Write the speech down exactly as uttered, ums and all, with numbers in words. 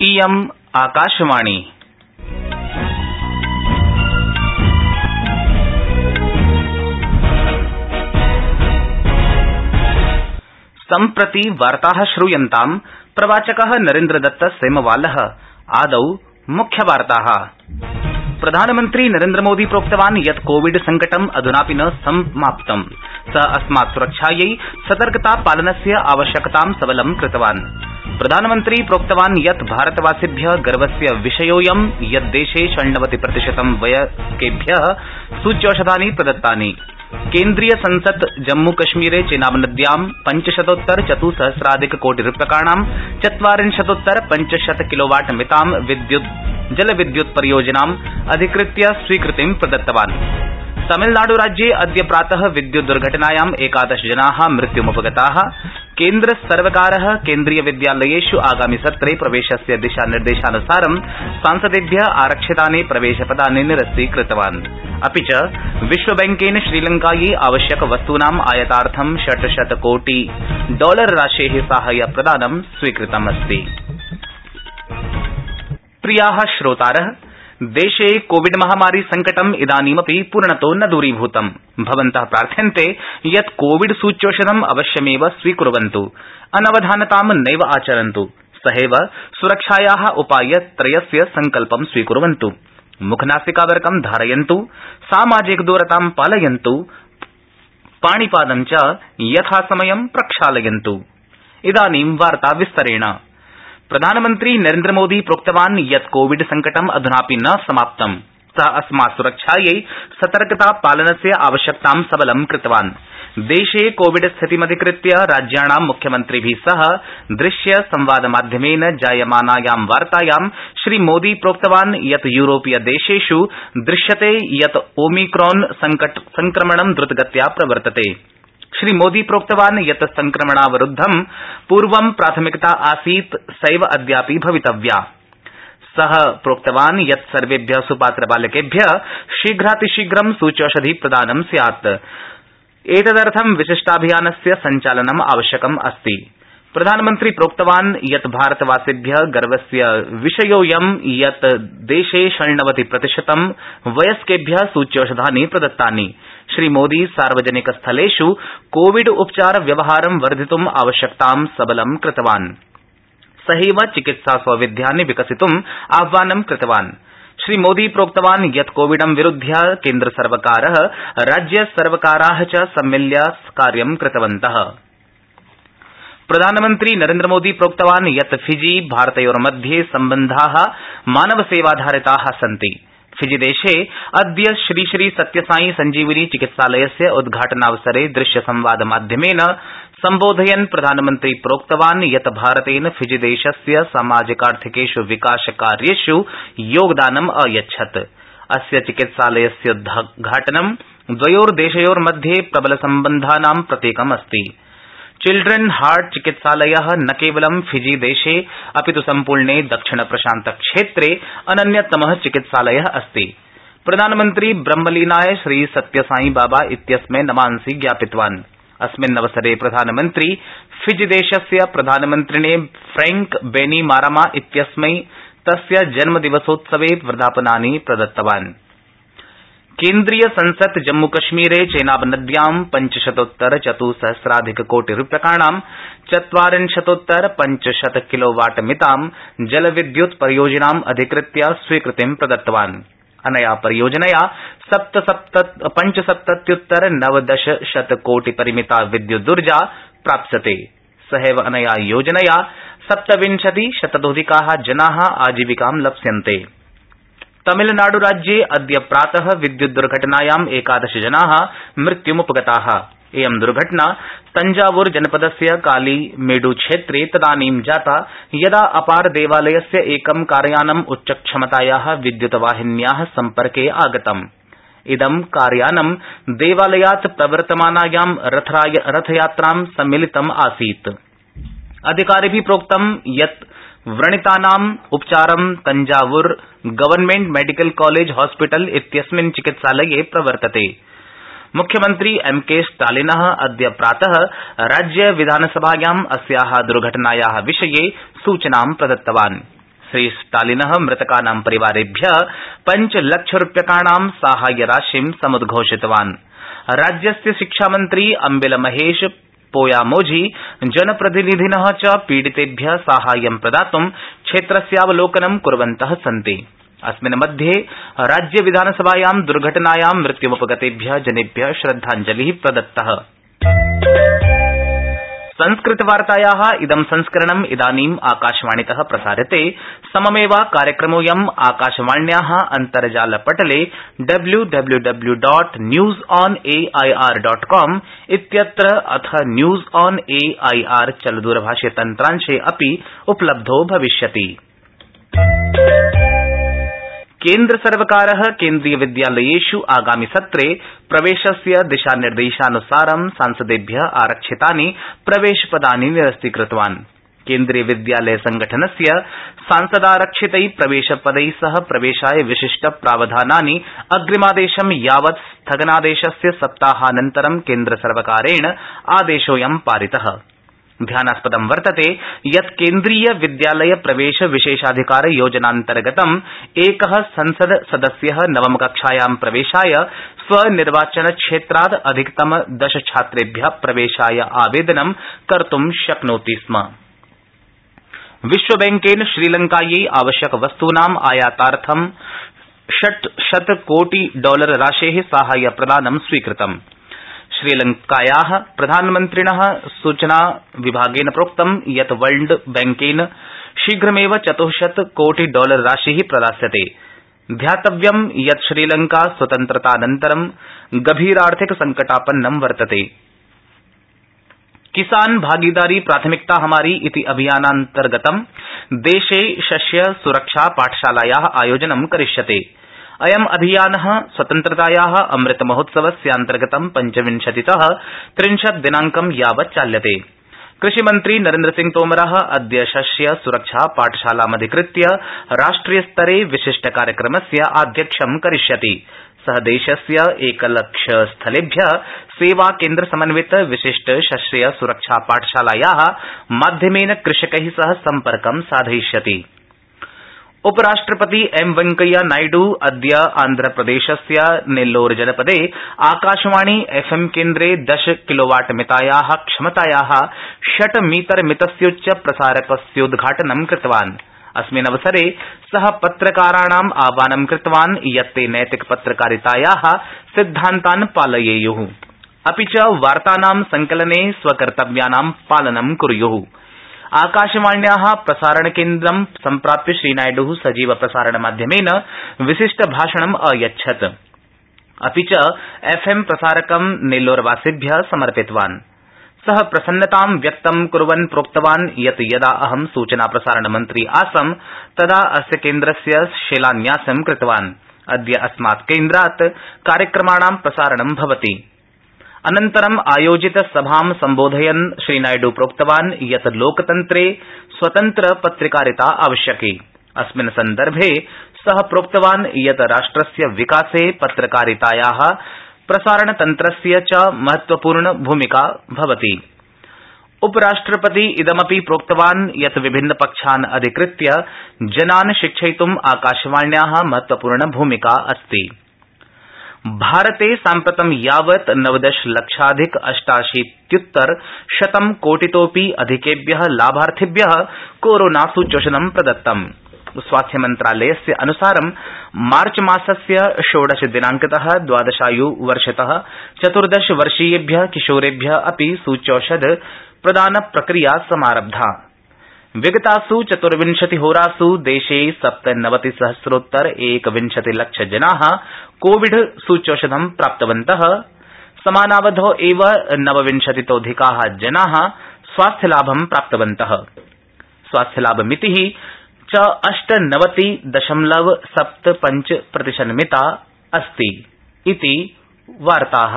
इयम् आकाशवाणी। सम्प्रति वार्ताः श्रूयन्ताम्। प्रवाचकः नरेन्द्रदत्त सेमवालः। आदौ मुख्यवार्ताः। प्रधानमन्त्री नरेन्द्रमोदी प्रोक्तवान् यत् कोविड संकटम् अधुनापि न समाप्तम्। स अस्मात् सुरक्षायै सतर्कतापालनस्य आवश्यकतां सबलं कृतवान्। प्रधानमन्त्री प्रोक्तवान् यत् भारतवासिभ्य गर्वस्य विषयोऽयं यत् देशे षण्णवति प्रतिशतं वयस्केभ्य सूच्यौषधानि प्रदत्तानि। केन्द्रीय संसत् जम्मूकश्मीरे चेनाब नद्यां पंचशतोत्तर चतुसहस्राधिक कोटि रूप्यकाणां चत्वारिंशतोत्तर पंचशत किलोवाट मितां विद्युत् जलविद्युत् परियोजनाम् अधिकृत्य स्वीकृतिं प्रदत्तवान्। तमिलनाडुराज्ये अद्य प्रातः विद्युत् दुर्घटनायाम् एकादश जनाः मृत्युमुपगताः। केन्द्रसर्वकारः केन्द्रीय विद्यालयेष् आगामि सत्रे प्रवेशस्य दिशानिर्देशानुसारं सांसदेभ्य आरक्षितानि प्रवेशपदानि निरस्तीकृतवान्। अपि च विश्वबैंकेन श्रीलंकायै आवश्यक वस्तूनाम् आयातार्थं षट्शत कोटि डॉलर राशेः साहाय्यप्रदानं स्वीकृतमस्ति। प्रियाः श्रोतारः, देशे कोविड महामारी संकटम् इदानीमपि पूर्णतो न दूरीभूतम्। भवन्तः प्रार्थ्यन्ते यत् कोविड सूच्यौषधम् अवश्यमेव स्वीकुर्वन्तु, अनवधानतां नैव आचरन्तु, सहैव सुरक्षायाः उपायत्रयस्य संकल्पं स्वीकुर्वन्तु। मुखनासिकावरकं धारयन्तु, सामाजिकदूरतां पालयन्तु, पाणिपादं च यथासमयं प्रक्षालयन्तु। इदानीं वार्ता विस्तरेण। प्रधानमन्त्री नरेन्द्रमोदी प्रोक्तवान् यत् कोविड संकटम् अधुनापि न समाप्तम्। स अस्मात् सुरक्षायै सतर्कतापालनस्य आवश्यकतां सबलं कृतवान्। देशे कोविड स्थितिमधिकृत्य राज्याणां मुख्यमन्त्रिभिः सह दृश्य संवादमाध्यमेन जायमानायां वार्तायां श्रीमोदी प्रोक्तवान् यत् यूरोपीय देशेष् दृश्यते यत् ओमिक्रॉन संक्रमणं द्रुतगत्या प्रवर्तते। श्रीमोदी प्रोक्तवान् यत् संक्रमणावरुद्धं पूर्वं प्राथमिकता आसीत् सैव अद्यापि भवितव्या। सः प्रोक्तवान् यत् सर्वेभ्य सुपात्रबालकेभ्य शीघ्रातिशीघ्रं सूच्यौषधि प्रदानं स्यात्। एतदर्थं विशिष्टाभियानस्य सञ्चालनम् आवश्यकम् अस्ति। प्रधानमन्त्री प्रोक्तवान् यत् भारतवासिभ्य गर्वस्य विषयोऽयं यत् देशे षण्णवति प्रतिशतं वयस्केभ्य सूच्यौषधानि प्रदत्तानि। श्रीमोदी सार्वजनिकस्थलेष् कोविड उपचार व्यवहारं वर्धितुम् आवश्यकतां सबलं कृतवान्। सहैव चिकित्सा सौविध्यानि विकसितुम् आह्वानं कृतवान्। श्रीमोदी प्रोक्तवान् यत् कोविडं विरुध्य केन्द्रसर्वकारः राज्यसर्वकाराः च सम्मिल्य कार्यं कृतवन्तः। प्रधानमन्त्री नरेन्द्रमोदी प्रोक्तवान् यत् फिजी भारतयोर्मध्ये सम्बन्धाः मानवसेवाधारिताः सन्ति। फिजीदेशे अद्य श्री श्री सत्यसाई संजीवनी चिकित्सालयस्य उद्घाटनावसरे दृश्यसंवादमाध्यमेन सम्बोधयन् प्रधानमन्त्री प्रोक्तवान् यत् भारतेन फिजीदेशस्य सामाजिकार्थिकेष् विकासकार्येष् योगदानम् अयच्छत्। अस्य चिकित्सालयस्योद्घाटनं द्वयोर्देशयोर्मध्ये प्रबलसम्बन्धानां प्रतीकमस्ति। चिल्ड्रेन हार्ट चिकित्सालयः न केवलं फिजीदेशे अपित् सम्पूर्णे दक्षिणप्रशान्तक्षेत्रे अनन्यतमः चिकित्सालयः अस्ति। प्रधानमन्त्री ब्रह्मलीनाय श्री सत्यसाई बाबा इत्यस्मै नमांसि ज्ञापितवान्। अस्मिन्नवसरे प्रधानमन्त्री फिजीदेशस्य प्रधानमन्त्रिणे फ्रैंक बैनिमारामा इत्यस्मै तस्य जन्मदिवसोत्सवे वर्धापनानि प्रदत्तवान्। केन्द्रीय संसत् जम्मूकश्मीरे चेनाब नद्यां पंचशतोत्तर चतुसहस्राधिक कोटि रूप्यकाणां चत्वारिंशतोत्तर पंचशत किलोवाट मितां जलविद्युत् परियोजनाम् अधिकृत्य स्वीकृतिं प्रदत्तवान्। अनया परियोजनया पंचसप्तत्युत्तर नवदश शत कोटि परिमिता विद्युदूर्जा प्राप्स्यते। सहैव अनया योजनया सप्तविंशति शततोऽधिकाः जनाः आजीविकां लप्स्यन्ते। तमिलनाडुराज्ये अद्य प्रातः विद्युत् दुर्घटनायाम् एकादश जनाः मृत्युमुपगताः। इयं दुर्घटना तंजावुर जनपदस्य कालीमेडु क्षेत्रे तदानीं जाता यदा अपार देवालयस्य एकं कारयानम् उच्चक्षमतायाः विद्युतवाहिन्याः सम्पर्के आगतम्। इदं कारयानं देवालयात् प्रवर्तमानायां रथयात्रां सम्मिलितम् आसीत्। अधिकारिभिः प्रोक्तं यत् व्रणितानाम् उपचारं Thanjavur government medical college hospital इत्यस्मिन् चिकित्सालये प्रवर्तते। मुख्यमन्त्री एम के स्टालिनः अद्य प्रातः राज्य विधानसभायाम् अस्याः दुर्घटनायाः विषये सूचनां प्रदत्तवान्। श्री स्टालिनः मृतकानां परिवारेभ्यः पञ्चलक्षरूप्यकाणां साहाय्यराशिं समुद्घोषितवान्। राज्यस्य शिक्षामन्त्री अम्बिल महेश पोयामोझी जनप्रतिनिधिनः च पीडितेभ्यः साहाय्यं प्रदातुं क्षेत्रस्यावलोकनं कुर्वन्तः सन्ति। अस्मिन् मध्ये राज्य विधानसभायां दुर्घटनायां मृत्युमुपगतेभ्यः जनेभ्यः श्रद्धाञ्जलिः प्रदत्तः। संस्कृतवार्तायाः इदं संस्करणम् इदानीम् आकाशवाणीतः प्रसार्यते। सममेव कार्यक्रमोऽयम् आकाशवाण्याः अन्तर्जालपटले W W W dot news on A I R dot com इत्यत्र अथ news on A I R चलदूरभाषे तन्त्रांशे अपि उपलब्धो भविष्यति। केन्द्रसर्वकारः केन्द्रीयविद्यालयेष् आगामि सत्रे प्रवेशस्य दिशानिर्देशानुसारं सांसदेभ्यः आरक्षितानि प्रवेशपदानि निरस्तीकृतवान्। केन्द्रीयविद्यालयसंगठनस्य सांसदारक्षितै प्रवेशपदै सह प्रवेशाय विशिष्टप्रावधानानि अग्रिमादेशं यावत् स्थगनादेशस्य सप्ताहानन्तरं केन्द्रसर्वकारेण आदेशोऽयं पारितः। ध्यानास्पदं वर्तते यत् केन्द्रीय विद्यालय प्रवेश विशेषाधिकार योजनान्तर्गतं एकः संसद सदस्यः नवमकक्षायां प्रवेशाय स्वनिर्वाचनक्षेत्रात् अधिकतम दश छात्रेभ्यः प्रवेशाय आवेदनं कर्तुं शक्नोति स्म। विश्वबैंकेन श्रीलंकायै आवश्यकवस्तूनाम् आयातार्थं षट्शत कोटि डॉलर राशेः साहाय्यप्रदानं स्वीकृतम्। श्रीलंकायाः प्रधानमन्त्रिणः सूचना विभागेन प्रोक्तं यत् वर्ल्ड बैंकेन शीघ्रमेव चतुश्शत कोटि डॉलर राशिः प्रदास्यते। ध्यातव्यं यत् श्रीलंका स्वतन्त्रतानन्तरं गभीरार्थिक संकटापन्नं वर्तते। किसान भागीदारी प्राथमिकता हमारी इति अभियानान्तर्गतं देशे शस्य सुरक्षा पाठशालायाः आयोजनं करिष्यते। अयम् अभियानः स्वतन्त्रतायाः अमृत महोत्सवस्यान्तर्गतं पञ्चविंशतितः त्रिंशत् दिनांकं यावत् चाल्यते। कृषिमन्त्री नरेन्द्रसिंह तोमरः अद्य शस्य सुरक्षा पाठशालामधिकृत्य राष्ट्रियस्तरे विशिष्टकार्यक्रमस्य आध्यक्ष्यं करिष्यति। सः देशस्य एकलक्षस्थलेभ्यः सेवाकेन्द्रसमन्वित विशिष्ट शस्य सुरक्षा पाठशालायाः माध्यमेन कृषकैः सह सम्पर्कं साधयिष्यति। उपराष्ट्रपति एम वेंकैया नायडू अद्य आन्ध्रप्रदेशस्य नेल्लोर जनपदे आकाशवाणी एफएम केन्द्रे दश किलोवाट मितायाः क्षमतायाः षट् मीटर मितस्योच्च प्रसारकस्योद्घाटनं कृतवान्। अस्मिन् अवसरे सः पत्रकाराणाम् आह्वानं कृतवान् यत् ते नैतिक पत्रकारितायाः सिद्धान्तान् पालयेयुः, अपि च वार्तानां संकलने स्वकर्तव्यानां पालनं कुर्युः। आकाशवाण्याः प्रसारणकेन्द्रं सम्प्राप्य श्रीनायडुः सजीव प्रसारणमाध्यमेन विशिष्टभाषणम् अयच्छत्, अपि च एफएम प्रसारकं नेल्लोरवासिभ्यः समर्पितवान्। सः प्रसन्नतां व्यक्तं कुर्वन् प्रोक्तवान् यत् यदा अहं सूचना प्रसारणमन्त्री आसम् तदा अस्य केन्द्रस्य शिलान्यासं कृतवान्। अद्य अस्मात् केन्द्रात् कार्यक्रमाणां प्रसारणं भवति। अनन्तरं आयोजित सभां सम्बोधयन् श्रीनायडू प्रोक्तवान् यत् लोकतन्त्रे स्वतन्त्र पत्रकारिता आवश्यकी। अस्मिन् सन्दर्भे सः प्रोक्तवान् यत् राष्ट्रस्य विकासे पत्रकारितायाः प्रसारणतन्त्रस्य च महत्वपूर्ण भूमिका भवति। उपराष्ट्रपति इदमपि प्रोक्तवान् यत् विभिन्नपक्षान् अधिकृत्य जनान् शिक्षयितुम् आकाशवाण्याः महत्वपूर्ण भूमिका अस्ति। भारते साम्प्रतं यावत् नवदश लक्षाधिक अष्टाशीत्युत्तर शतं कोटितोऽपि अधिकेभ्यः लाभार्थिभ्यः कोरोना सूच्यौषधं प्रदत्तम्। स्वास्थ्यमन्त्रालयस्य अनुसारं मार्चमासस्य षोडश दिनांकतः द्वादशायुवर्षतः चतुर्दश वर्षीयेभ्यः किशोरेभ्यः अपि सूच्यौषध प्रदान प्रक्रिया समारब्धा। विगतासु चतुर्विंशतिहोरासु देशे सप्तनवतिसहस्रोत्तर एकविंशति लक्ष जनाः कोविड सूच्यौषधं प्राप्तवन्तः। समानावधौ एव नवविंशतितोऽधिकाः जनाः स्वास्थ्यलाभं प्राप्तवन्तः। स्वास्थ्यलाभमितिः च अष्टनवति दशमलव सप्त पंच प्रतिशन्मिता अस्ति इति वार्ताः।